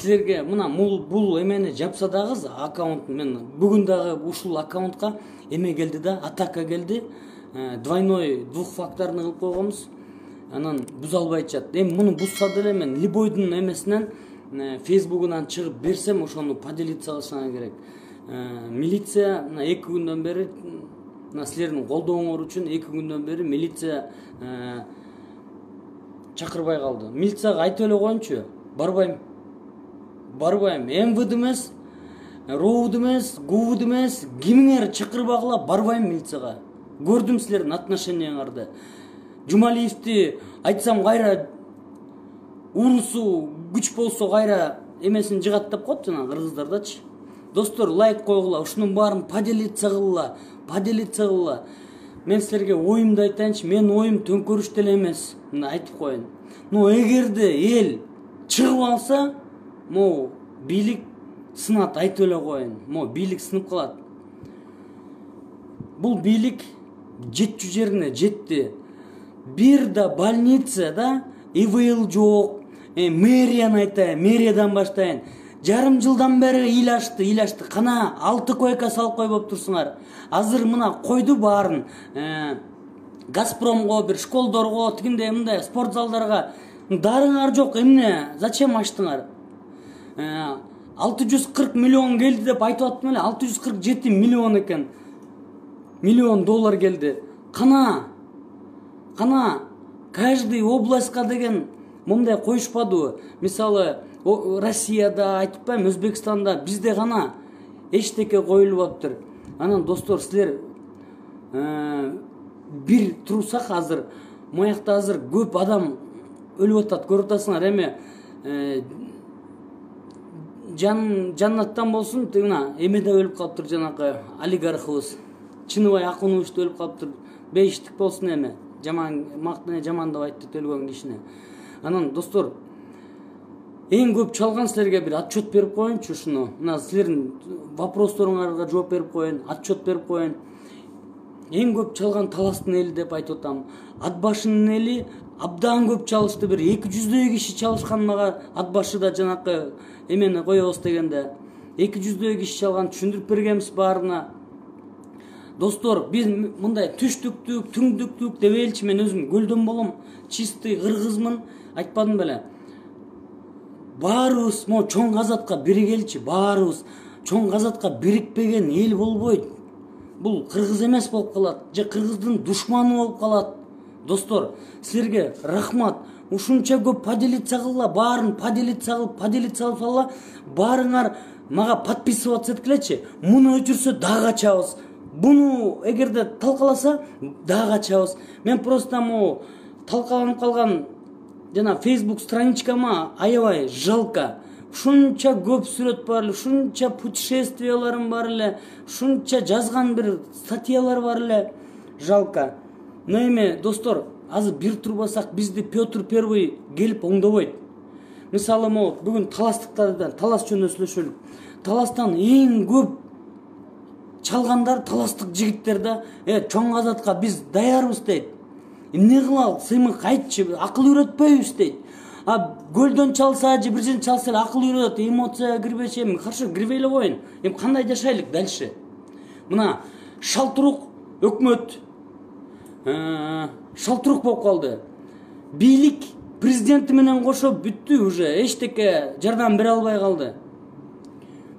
силерге мына бул эмени жапса дагы аккаунт, мен бүгүн дагы ушул аккаунтка эме келди да, атака келди. Двойной двухфакторный кылып койгонбуз. Анан буза албай атышат. Эми муну бузса деле мен любойдун эмесинен фейсбугунан чыгып берсем ошону поделиться кылышыңар керек. Милиция 2 күндөн бери, силердин колдооңор үчүн 2 күндөн бери милиция чакырбай калды. Милицияга айтып эле коеюнчу, барбайм. МВД эмес, РОУД эмес, ГУВД эмес, кимиңер чакырбагыла барбайм милицияга. Көрдүм силердин отношенияңарды. Жумалиевди айтсам кайра урусу күч болсо кайра эмесин жыгаттап коет жана кыргыздардачы. Достор, лайк койгула, ушунун баарын поделиться кылгыла. Мен силерге оюмду айтайынчы, мен оюм төңкөрүш деле эмес. Мына айтып коеюн. Эгерде эл чыгып алса, бийлик сынат, айтып эле коеюн. Бийлик сынып калат. Бул бийлик жетчү жерине жетти. Бир да больницада ИВЛ жок. Мэрияны айтайын, мэриядан баштайын. Жарым жылдан бери ыйлашты. Кана 6 койка салып койбоп турсуңар. Азыр мына койду баарын. Газпромго, бир школдорго, тигиндей мындай спорт залдарга дарыңар жок. Эмне? Зачем ачтыңар? 640 миллион келди деп айтып аттым эле. 647 миллион экен. Миллион доллар келди. Кана каждый областька деген мындай коюшпадыбы? Мисалы, Россияда, айтпайм, Өзбекстанда, бизде гана эчтеке коюлуп атыптыр. Анан достор, силер бир турсак азыр, моякта азыр көп адам өлүп атат, көрүп атасыңар. Эми жаннаттан болсун, мына эмеде өлүп калыптыр жанакы олигархыбыз. Чыныбай Акунович өлүп калыптыр. Бейиштик болсун эми. Жамандап айтты өлгөн кишине. Анан достор, эң көп чалган силерге бир отчет берип коеюнчу ушуну. Мына силердин вопросторуңарга жооп берип коеюн, отчет берип коеюн. Эң көп чалган Таластын эли деп айтып атам. Ат башынын эли абдан көп чалышты, бир 200дөй киши чалышкан. Мага ат башыда жанакы эмени коебуз дегенде 200дөй киши чалган, түшүндүрүп бергенбиз баарына. Достор, биз мындай түштүктүк, түңдүктүк дебелчи, мен өзүм көлдөн болом, чистый кыргызмын, айтпадым беле. Баарыбыз чоң казатка биригелчи, баарыбыз. Чоң казатка бирикпеген эл болбойт. Бул кыргыз эмес болуп калат, же кыргыздын душманы болуп калат. Достор, силерге рахмат. Ушунча көп поделиться кылла, баарын поделиться кылып, баарыңар мага подписываться эткилечи. Муну өчүрсө дагы ачабыз. Буну эгерде талкаласа дагы ачабыз. Мен просто талкаланып калган жана Facebook страничкама аябай жалко. Ушунча көп сүрөт бар эле, ушунча путешествияларым бар эле, ушунча жазган бир статьялар бар эле. Жалко. Но эми достор, азыр бир турбасак бизди Петр Первый келип оңдобойт. Мисалы, бүгүн таластыктардан, талас жөнүндө сүйлөшөлүк. Таластан эң көп чалгандар таластык жигиттер да, чоң казатка биз даярбыз дейт. Эмне кылалы, сыймык айтчы, акыл үйрөтпөйбүз дейт. Көлдөн чалса же бир жерден чалса эле акыл үйрөт, эмоцияга кирбечи. Эми хорошо, кирбей эле коеюн. Эми кандай жашайлык дальше? Мына шалтырук өкмөт шалтырук болуп калды. Бийлик президенти менен кошо бүттү уже, эчтеке жардам бере албай калды.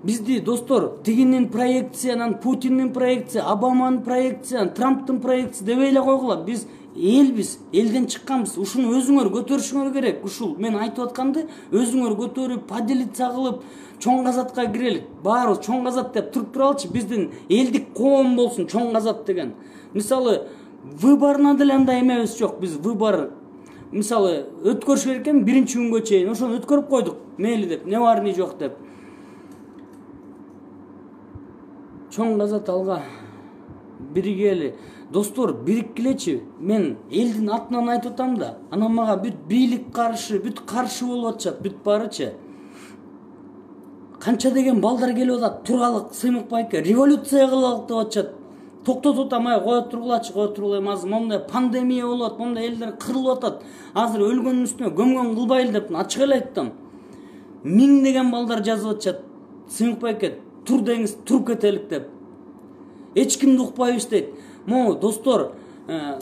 Бизди достор, тигинин проекциянан, Путиндин проекция, Обаманын проекция, Трамптын проекция дебей эле койгула. Биз элбиз, элден чыкканбыз. Ушуну өзүңөр көтөрүшүңөр керек. Ушул мен айтып атканды өзүңөр көтөрүп, поделиться кылып, чоң казатка кирелик. Баарыбыз чоң казат деп туруп туралычы, биздин элдик коом болсун чоң казат деген. Мисалы, выборна деле андай эмебиз жок. Биз выбор мисалы өткөрүш керек экен биринчи күнгө чейин. Ошону өткөрүп койдук. Мейли деп, не бар не жок деп. Чоң казат алга биригели. Достор, бириккилечи. Мен элдин атынан айтып атам да. Анан мага бүт бийлик каршы, бүт каршы болуп атышат, бүт барычы. Канча деген балдар келип атат, туралык, сыймык байке, революция кылалык деп атышат. Токтотуп атам, кое тургулачы, азыр мондай пандемия болуп атат, мондай элдер кырылып атат. Азыр өлгөндүн үстүнө көмгөн кылбайлы деп ачык эле айттым. миңдеген балдар жазып атышат. Сыйынбек байке, тур деңиз, туруп кетелик деп. Эч кимди укпайбыз дейт. Могу достор,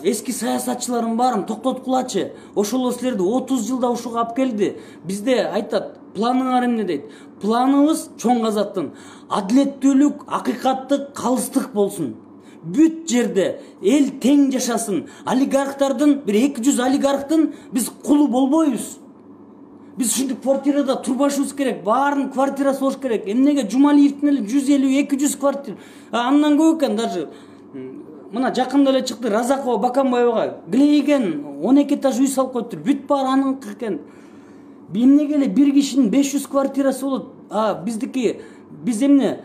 эски саясатчылардын баарын токтоткулачы. Ошол силерди 30 жылда ушуга алып келди. Бизде айтат, планыңар эмне дейт. Планыбыз чоң казаттын адилеттүүлүк, акыйкаттык, калыстык болсун. Бүт жерде эл тең жашасын. Олигархтардын, бир 200 олигархтын биз кулу болбойбуз. Биз ушинтип квартирада турбашыбыз керек, баарын квартирасы болуш керек. Эмнеге Жумалиевдин эле 150-200 квартира, андан көп экен даже. Мына жакында эле чыкты Разакова Баканбаевага глейген 12 этаж үй салып коюптур. Бүт баары аныңкы экен. Эмнеге эле бир кишинин 500 квартирасы болот. Биздики биз эмне?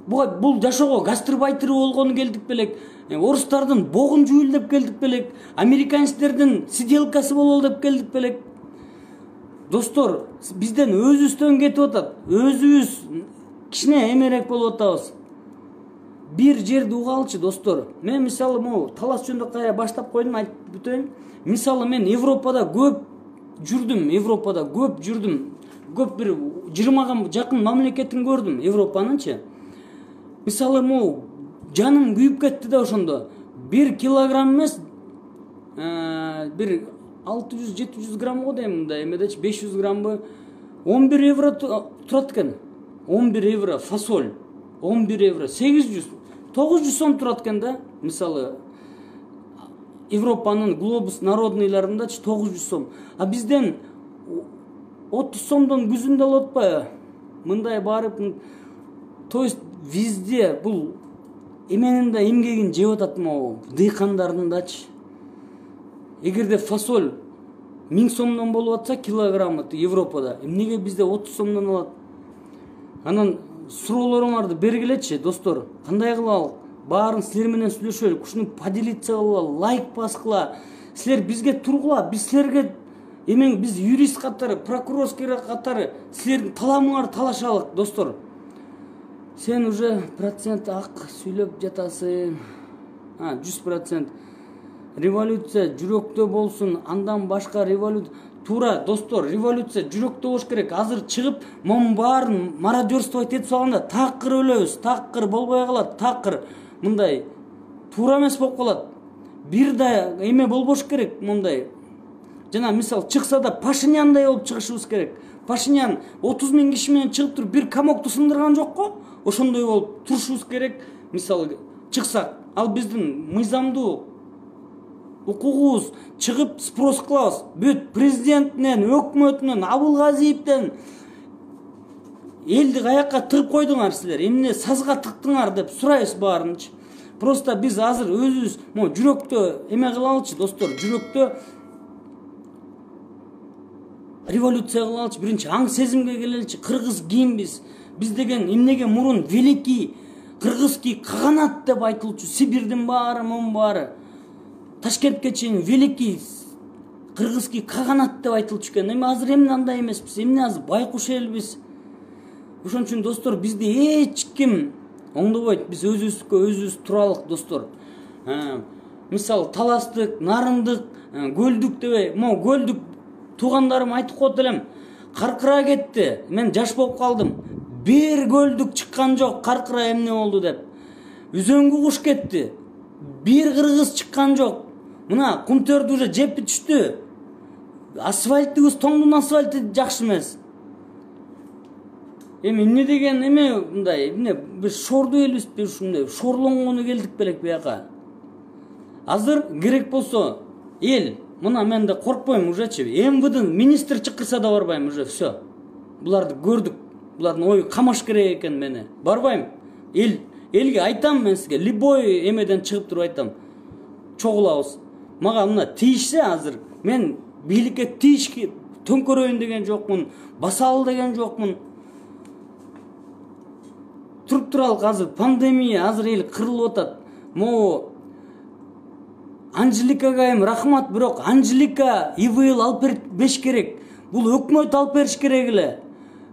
Бул жашоого гастарбайтер болгону келдик белек. Орустардын богун жуйул деп келдик белек. Американецтердин сиделкасы бололу деп келдик белек. Достор, бизден өзүбүздөн кетип атат. Өзүбүз кичине эмерек болуп атабыз. Бир жерди угалчы, достор. Мен мисалы могу талас жөнүндө кайра баштап койдум, айтып бүтөйүн. Мисалы мен Европада көп жүрдүм. Көп бир 20га жакын мамлекетин көрдүм, Европанынчы. Мисалы могу жаным күйүп кетти да ошондо. 1 килограмм эмес, бир 600-700 граммго дейм мындай эмедечи 500 граммбы 11 евро турат экен. 11 евро фасоль. 11 евро 900 сом турат экен да. Мисалы Европанын глобус народныйларындачы 900 сом. А бизден 30 сомдон күзүндө алып атпайбы? Мындай барып, то есть везде бул эменин да эмгегин жеп атат могу дыйкандардындачы. Эгерде фасоль 1000 сомдон болуп атса килограммы Европада, эмнеге бизде 30 сомдон алат? Анан суроолоруңарды бергилечи, достор. Кандай кылалы? Баарын силер менен сүйлөшөлүк. Ушуну поделиться кыла, лайк баскыла. Силер бизге тургула, биз силерге биз юрист катары, прокурорский катары силердин таламыңарды талашалык, достор. Сен уже процент ак сүйлөп жатасың. 100%. Революция жүрөктө болсун, андан башка революция. Туура, достор, революция жүрөктө болуш керек. Азыр чыгып, монун баарын мародерствовать этип салганда такыр өлөбүз, такыр болбой калат, такыр мындай туура эмес болуп калат. Бир да эме болбош керек мындай. Жана мисал чыкса да Пашиняандай болуп чыгышыбыз керек. Пашинян 30 000 киши менен чыгып туруп бир камокту сындырган жокко? Ошондой болуп турушубуз керек. Мисалы чыксак, ал биздин мыйзамдуу укугубуз, чыгып спрос кылабыз. Бүт президенттен, өкмөтүнөн, Абылгазиевден элди каякка тыгып койдуңар силер? Эмне сазга тыктыңар деп сурайбыз баарынчы. Просто биз азыр өзүбүз жүрөктө эме кылалычы, достор, жүрөктө революция кылалычы, биринчи аң сезимге келеличи. Кыргыз кимбиз? Биз деген эмнеге мурун великий кыргызский каганат деп айтылчу, Сибирдин баары, мун баары. Ташкентке чейин великий кыргызский каганат деп айтылчу экен. Эми азыр эмне андай эмеспиз? Эмне азыр байкуш элбиз? Ошон үчүн достор, бизди эч ким оңдобойт. Биз өзүбүз туралык, достор. Мисалы таластык, нарындык, көлдүк дебей, көлдүк туугандарым айтып коет элем. Каркыра кетти. Мен жаш болуп калдым. Бир көлдүк чыккан жок, каркыра эмне болду деп. Үзөңгү куш кетти. Бир кыргыз чыккан жок. Мына Кумтөрдү уже жеп бүтүштү. Асфальтыбыз, тоңдун асфальты жакшы эмес. Эми эмне деген эме мындай, эмне биз шорду элбизби ушундай, шорлонгону келдик белек бияка. Азыр керек болсо эл, мына мен да коркпойм ужечи. МВД министр чакырса да барбайм уже, все. Буларды көрдүк. Булардын ою камаш керек экен мени. Барбайм. Элге айтам мен сизге, любой эмеден чыгып туруп айтам. Чогулабыз. Мага мына тийишсе азыр, мен бийликке тийишке төңкөрөйүн деген жокмун, басалы деген жокмун. Туруп туралык, азыр пандемия, азыр эл кырылып атат. Могу Анжеликага рахмат, бирок Анжелика ИВЛ алып бербеш керек. Бул өкмөт алып бериш керек эле.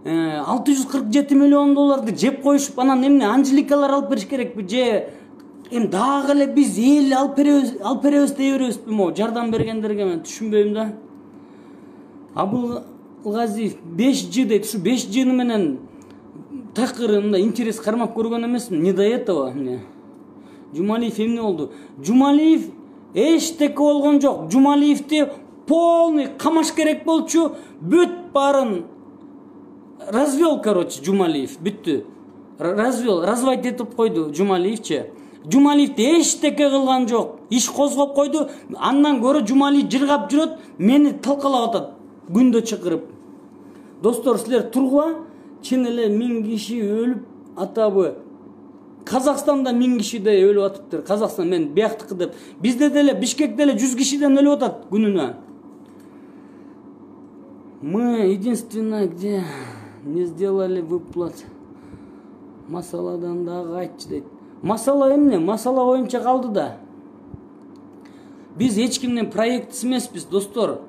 647 миллион долларды жеп коюшуп, анан эмне Анжеликалар алып бериш керекпи же дагы эле биз эл алып беребиз дей беребизби? Жардам бергендерге мен түшүнбөйм да. Жумалгазиев 5G дейт. Ушу 5G менен такыр мындай интерес кармап көргөн эмесмин. Не до этого мне. Жумалиев эмне болду? Жумалиев эчтеке болгон жок. Жумалиевди полный камаш керек болчу. Бүт барын развел, короче, Жумалиев. Бүттү. Развел, разводить этип койду Жумалиевчи. Жумалиевди эчтеке кылган жок. Иш козгоп койду. Андан көрө Жумалиев жыргап жүрөт, мени талкалап атат күндө чакырып. Достор, силер тургула, чын эле 1000 киши өлүп атабы. Казакстанда 1000 кишидей өлүп атыптыр. Казакстан мен бияктыкы деп. Бизде деле Бишкекте эле 100 кишиден өлүп атат күнүнө. Мы единственное, где не сделали выплат. Масаладан дагы айтчы дейт. Масала эмне? Масала боюнча калды да. Биз эч кимдин проектиси эмеспиз, достор.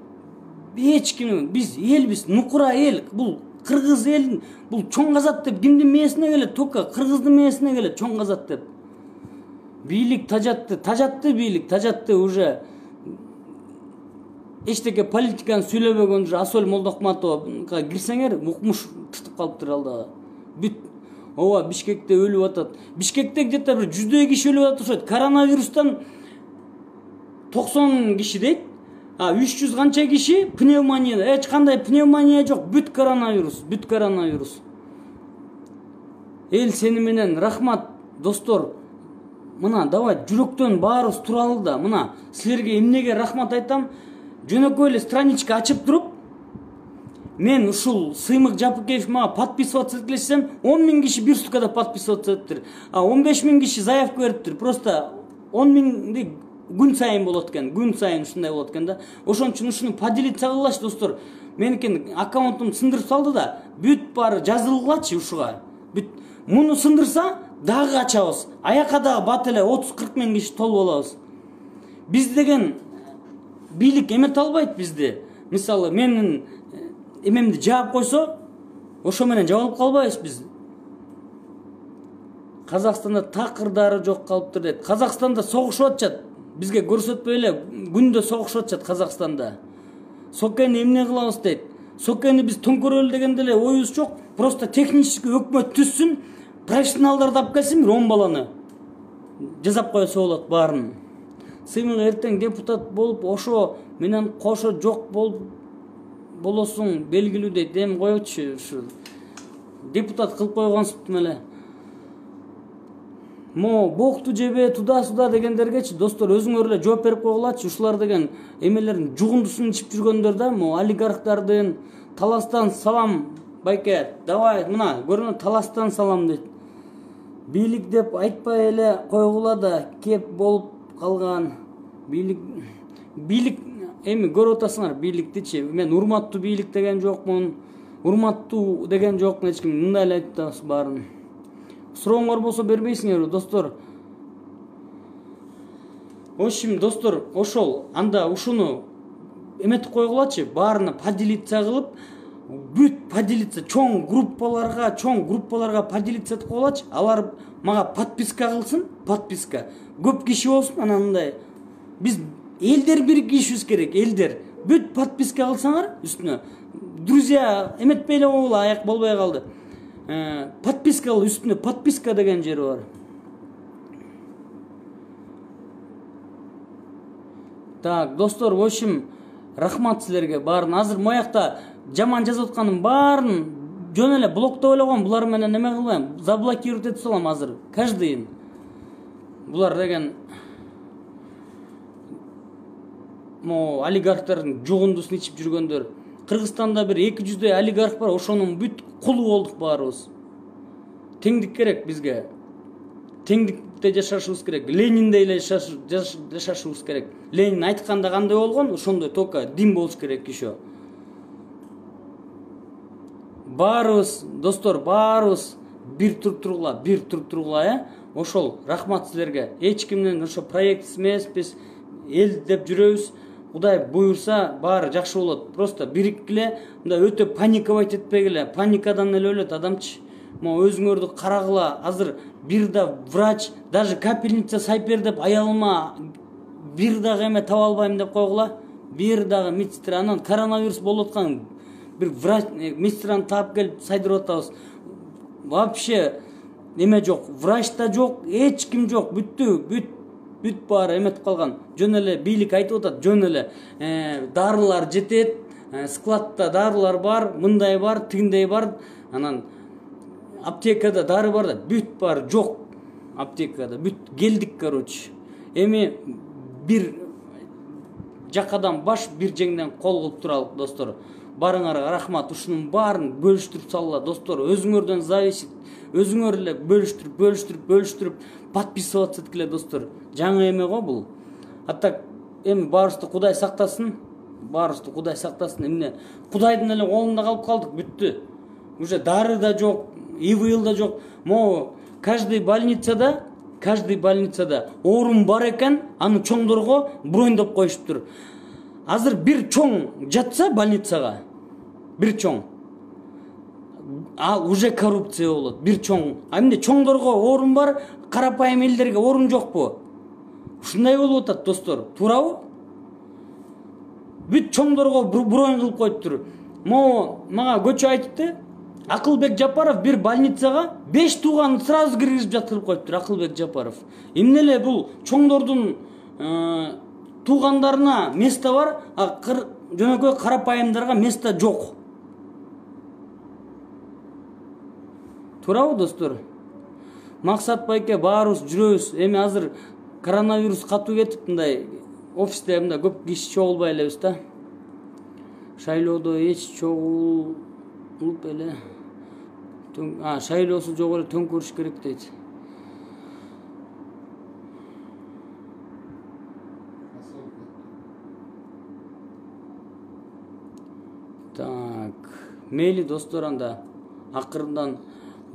Эч ким, биз элбиз, нукура эл. Бул кыргыз эл, бул чоң казат деп кимдин мээсине келет? Только кыргыздын мээсине келет чоң казат деп. Бийлик тажатты бийлик, тажатты уже. Эчтеке политиканы сүйлөбөгөн уже Асөл Молдокматова кирсеңер, укмуш тутуп калыптыр алда. Бүт ооба Бишкекте өлүп атат. Бишкекте где-то бир 100 киши өлүп атышат. Коронавирустан 90 киши дейт. 300 канча киши пневмония. Эч кандай пневмония жок. Бүт коронавирус, бүт коронавирус. Эл сени менен рахмат, достор. Мына давай жүрөктөн баарыбыз туралы да. Мына силерге эмнеге рахмат айтам? Жөнөкөй эле страничка ачып туруп, мен ушул Сыймык Жапыкеев мага подписываться эткилесем, 10 000 киши бир суткада подписываться эттир. 15 000 киши заявка бериптир. Просто 10 000 күн сайын болот экен, күн сайын ушундай болот экен да. Ошон үчүн ушуну поделиться кылгылачы, достор. Меникин аккаунтумду сындырып салды да, бүт баары жазылгылачы ушуга. Бүт муну сындырса дагы ачабыз. Аяка дагы бат эле 30-40 000 киши толуп алабыз. Биз деген бийлик эмете албайт бизди. Мисалы, менин эмемди жаап койсо, ошо менен жабылып калбайбыз биз. Казакстанда такырдары жок калыптыр дейт. Казакстанда согушуп атышат. Бизге көрсөтпөй эле күндө согушуп атышат Казакстанда. Сокени эмне кылабыз дейт. Сокени биз төңкөрөлү деген деле оюбуз жок. Просто технический өкмөт түзсүн, профессионалдарды алып келсин, 10 баланы жазап койсо болот баарын. Сыймык эртең депутат болуп, ошо менен кошо жок болосуң белгилүү дейт. Эми койчу, ушу депутат кылып койгонсуптум эле. Бокту жебе туда-суда дегендергечи, достор, өзүңөр эле жооп берип койгулачы. Ушулар деген эмелердин жугундусун ичип жүргөндөр да, олигархтардын. Таластан салам, байке, давай, мына, көрүнө Таластан салам дейт. Бийлик деп айтпай эле койгула да, кеп болуп калган. Бийлик эми көрүп атасыңар бийликтичи. Мен урматтуу бийлик деген жокмун. Урматтуу деген жокмун, эч ким мындай эле айтабыз баарын. Сурооңор болсо бербейсиңерби, достор? В общем, достор, ошол анда ушуну эметип койгулачы, баарына поделиться кылып, бүт поделиться чоң группаларга поделиться этип койгулачы. Алар мага подписка кылсын, подписка. Көп киши болсун, анан мындай. Биз элдер биригишибиз керек, элдер. Бүт подписка кылсаңар үстүнө. Друзья, эметпей эле койгула, аяк болбой калды. Подписка кыл, үстүнө подписка деген жери бар. Так, достор, в общем, рахмат силерге баарын. Азыр моякта жаман жазып атканым баарын жөн эле блоктоп эле койгом. Булар менен неме кылбайм, заблокировать этип салам азыр. Каждыйын. Булар деген олигархтардын жугундусун ичип жүргөндөр. Кыргызстанда бир 200 олигарх бар, ошонун бүт кулу болдук баарыбыз. Теңдик керек бизге. Теңдикте жашашыбыз керек. Лениндей эле жашашыбыз керек. Ленин айтканда кандай болгон, ошондой только дин болуш керек еще. Баарыбыз, достор, баарыбыз бир туруп тургула, Ошол рахмат силерге. Эч кимдин ошо проект эмеспиз, эл деп жүрөбүз. Кудай буйрса, баары жакшы болот. Просто бириккиле, мындай өтө паниковать этпегиле. Паникадан эле өлөт адамчы. Өзүңөрдү карагыла. Азыр бир да врач, даже капельница сайпер деп аялыма бир дагы эме таба албайм деп койгула. Бир дагы медсестра. Анан коронавирус болуп аткан бир врач медсестраны таап келип сайдырып атабыз. Вообще эме жок, врач да жок, эч ким жок. Бүт баары эметип калган. Жөн эле бийлик айтып атат, жөн эле дарылар жетет, складта дарылар бар, мындай бар, тигиндей бар, анан аптекада дары бар да, бүт баары жок. Аптекада бүт келдик, короче. Эми бир жакадан баш, бир жеңден кол кылып туралык, достор. Барыңарга рахмат. Ушунун баарын бөлүштүрүп салла, достор. Өзүңөрдөн зависит. Өзүңөр эле бөлүштүрүп подписываться эткиле, достор. Жаңы эме го бул. Атта эми баарыбызды Кудай сактасын. Эмне Кудайдын эле колунда калып калдык, бүттү. Уже дары да жок, ИВЛ да жок. Могу каждый больницада орун бар экен, аны чоңдорго брондоп коюшуптур. Азыр бир чоң жатса больницага, бир чоң, ал уже коррупция болот. Бир чоң. Эмне чоңдорго орун бар, карапайым элдерге орун жокпу? Ушундай болуп атат, достор. Туурабы? Бүт чоңдорго бронд кылып коюптур. Мага көчө айтыпты. Акылбек Жапаров бир больницага 5 тууганын сразу киргизип жаткырып коюптур. Акылбек Жапаров. Эмне эле бул чоңдордун туугандарына место бар, а жөнөкөй карапайымдарга место жок. Туурабы, достор? Максат байке баарыбыз жүрөбүз. Эми азыр коронавирус катуу кетип, мындай офисте мындай көп киши чогулбай элебиз да. Шайлоодо эч чогулуп эле. Шайлоосу жок эле төңкөрүш керек дейт. Так, мейли, достор, анда акырындан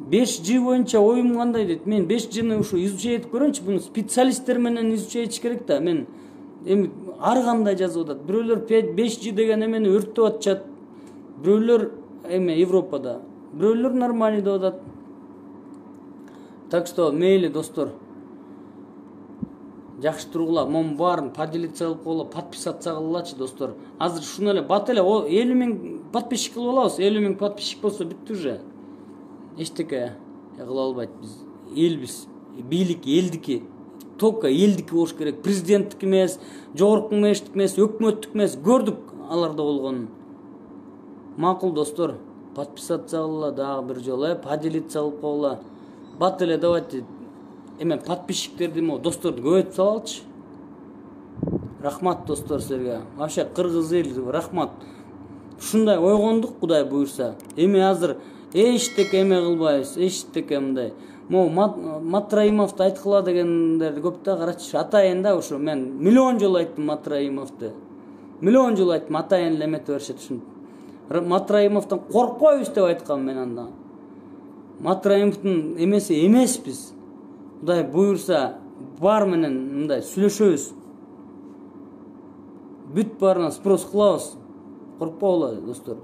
5G боюнча оюм кандай дейт. Мен 5G'ни ушу изучать этип көрөмчү. Буну специалисттер менен изучать этиш керек да. Мен эми ар кандай жазып атат. Бирөөлөр 5G деген эмени өрттөп атышат. Бирөөлөр эме Европада, бирөөлөр нормально деп атат. Так что мейли, достор. Жакшы тургула, мом баарын поделиться кылып койгула, подписаться кылгылачы, достор. Азыр шуну эле бат эле 50 000 подписчик кылып алабыз. 50 000 подписчик болсо бүттү уже. Эчтеке кыла албайт биз. Элбиз. Бийлик элдики. Только элдики болуш керек. Президенттик эмес, жогорку кеңештик эмес, өкмөттүк эмес. Көрдүк аларда болгонун. Макул, достор. Подписаться кылгыла дагы бир жолу, поделиться кылып койгула. Бат эле давайте эме подписчиктерди досторду көбөйтүп салалычы. Рахмат, достор, силерге. Вообще кыргыз эл рахмат. Ушундай ойгондук, Кудай буйрса. Эми азыр эчтеке эме кылбайбыз, эчтеке мындай. Матраимовду айткыла дегендерди көп да, карачы. Атайын да ушу мен миллион жолу айттым Матраимовду. Миллион жолу айттым, атайын эле эмете беришет ушун. Матраимовдон коркпойбуз деп айткам мен анда. Матраимовдун эмеси эмеспиз. Кудай буйрса бар менен мындай сүйлөшөбүз. Бүт баарына спрос кылабыз. Коркпогула, достор.